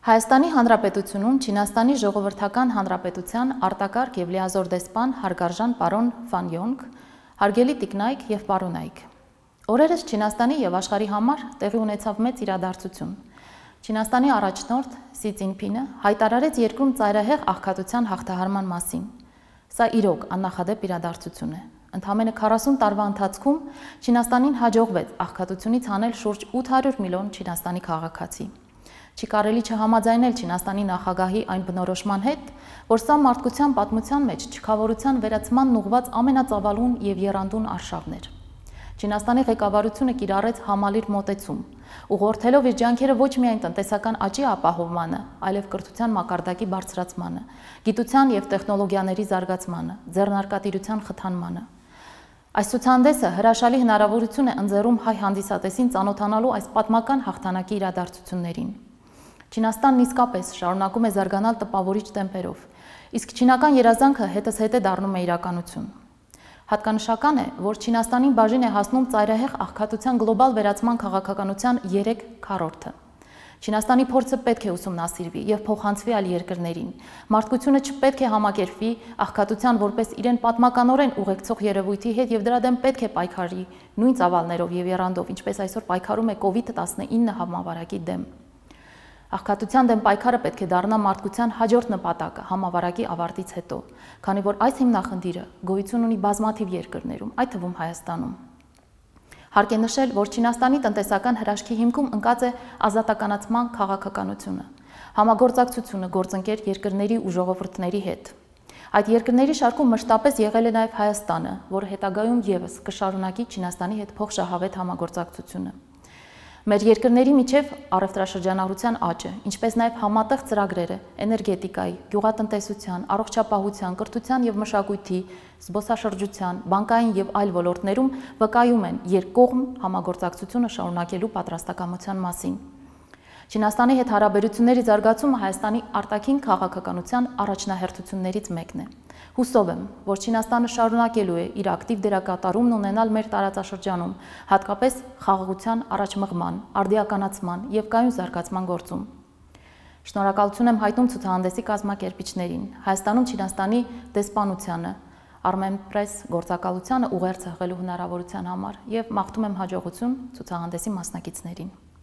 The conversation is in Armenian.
Հայաստանի Հանրապետությունում Չինաստանի Ժողովրդական Հանրապետության արտակարգ և լիազոր դեսպան հարգարժան պարոն Ֆան Յոնգ, հարգելի տիկնայք և պարոնայք։ Օրերս Չինաստանի և աշխարհի համար տեղի ունեցավ մեծ իրադարձություն։ Չինաստանի առաջնորդ Սի Ցզինփինը հայտարարեց երկրում ծայրահեղ աղքատության հաղթահարման մասին։ Սա իրոք աննախադեպ իրադարձություն է։ Ընդամենը 40 տարվա ընթացքում Չինաստանին հաջողվեց աղքատությունից հանել շուրջ 800 միլիոն Չինաստանի քաղաքացի։ Չի կարելի չհամաձայնել Չինաստանի նախագահի այն բնորոշման հետ, որ սա մարդկության պատմության մեջ չքավորության վերացմանն ուղղված ամենածավալուն և եռանդուն արշավն էր։ Չինաստանի ղեկավարությունը կիրառեց համալիր մոտեցում, ուղղորդելով իր ջանքերը ոչ միայն տնտեսական աճի ապահովմանը, այլև կրթության մակարդակի բարձրացմանը, գիտության և տեխնոլոգիաների զարգացմանը, ձեռնարկատիրության խթանմանը։ Այս ցուցահանդեսը հրաշալի հնարավորություն է ընձեռում հայ հանդիսատեսին ծանոթանալու այս պատմական հաղթանակի իրադարձություններին։ Չինաստանն իսկապես շարունակում է զարգանալ տպավորիչ տեմպերով, իսկ չինական երազանքը հետզհետե դառնում է իրականություն։ Հատկանշական է, որ Չինաստանին բաժին է հասնում ծայրահեղ աղքատության գլոբալ վերացման քաղաքականության 3/4-ը։ Չինաստանի փորձը պետք է ուսումնասիրվի և փոխանցվի այլ երկրներին։ Մարդկությունը չպետք է համակերպվի աղքատության որպես իրեն պատմականորեն ուղեկցող երևույթի հետ և դրա դեմ պետք է պայքարի նույն ծավալներով և եռանդով, ինչպես այսօր պայքարում է COVID-19 համավարակի դեմ։ Աղքատության դեմ պայքարը պետք է դառնա մարդկության հաջորդ նպատակը համավարակի ավարտից հետո, քանի որ այս հիմնախնդիրը գոյություն ունի բազմաթիվ երկրներում, այդ թվում Հայաստանում։ Հարկ է նշել, որ Չինաստանի տնտեսական հրաշքի հիմքում ընկած է ազատականացման քաղաքականությունը, համագործակցությունը գործընկեր երկրների ու ժողովուրդների հետ։ Այդ երկրների շարքում մշտապես եղել է նաև Հայաստանը, որը հետագայում ևս կշարունակի Չինաստանի հետ փոխշահավետ համագործակցությունը։ Մեր երկրների միջև առևտրաշրջանառության աճը, ինչպես նաև համատեղ ծրագրերը էներգետիկայի, գյուղատնտեսության, առողջապահության, կրթության և մշակույթի, զբոսաշրջության, բանկային և այլ ոլորտներում վկայում են երկկողմ համագործակցությունը շարունակելու պատրաստակամության մասին։ Չինաստանի հետ հարաբերությունների զարգացումը Հայաստանի արտաքին քաղաքականության առաջնահերթություններից մեկն է։ Հուսով եմ, որ Չինաստանը շարունակելու է իր ակտիվ դերակատարումն ունենալ մեր տարածաշրջանում, հատկապես խաղաղության առաջմղման, արդիականացման և կայուն զարգացման գործում։ Շնորհակալություն եմ հայտնում ցուցահանդեսի կազմակերպիչներին, Հայաստանում Չինաստանի դեսպանությանը, Armenpress գործակալությանը ուղերձ հղելու հնարավորության համար և մաղթում եմ հաջողություն ցուցահանդեսի մասնակիցներին։